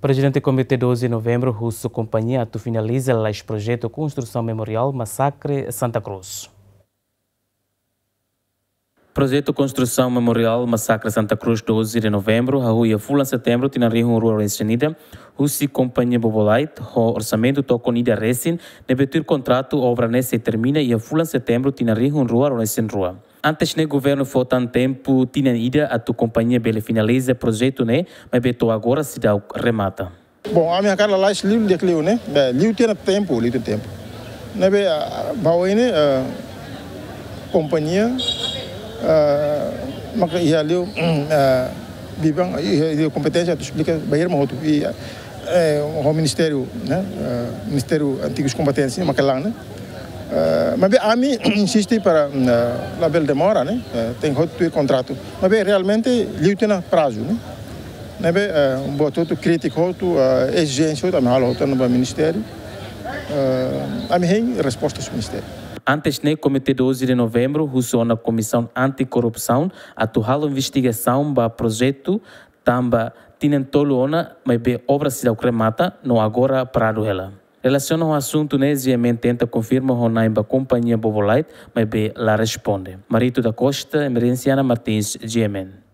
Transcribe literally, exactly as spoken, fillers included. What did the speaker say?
Prezidente Komité doze de Novembru husu kompañia atu finaliza lalais projetu konstrusaun Memoriál Masakre Santa Cruz. Projetu konstrusaun Memoriál Masakre Santa Cruz doze de Novembru hahú iha fulan Setembru tinan rihun rua ruanulu-resin-ida, husi kompañia Bobolite, ho orsamentu tokon ida resin, ne'ebé tuir kontratu obra ne'e sei termina iha fulan Setembru tinan rihun rua ruanulu-resin-rua. Antes ne'e governu fó tan tempu tinan ida atu kompañia bele finaliza projetu ne'e, maibé to'o agora seidauk remata. Bom, ami hakarak lalais liu di'ak liu ne'e, be, liu tiha ona tempu, liu tiha ona tempu. Ne'ebé, ah, ba oin ne'e, ah, kompañia, ah, maka iha liu, ah, biban, iha, iha kompeténsia atu esplika, ba irma hotu, i, eh, ho ministériu, ne'e, ah, ministériu antigus kombatentes, maka la'o, ne'e. Ah, maibé ami insiste para, ah, labele demora, ne'e, ah, tenke hotu kontratu. Maibé realmente, liu tiha ona prazu, ne'e. Ne'ebé, eh, buat hotu krítika hotu, eh, ezijénsia hotu, ami halo hotu ona ba ministériu. Eh, ami hein resposta husi ministériu. Antes ne'e Komité doze de Novembru husu ona Komisaun Antikorrupsaun atu halo investigasaun ba projetu tanba tinan tolu ona, maibé obra seidauk remata, no agora paradu hela. Relasiona ho asuntu ne'e, GMN tenta konfirma ho na'in ba kompañia Bobolite, maibé la responde. Marito da Costa, Emerenciana Martins, GMN.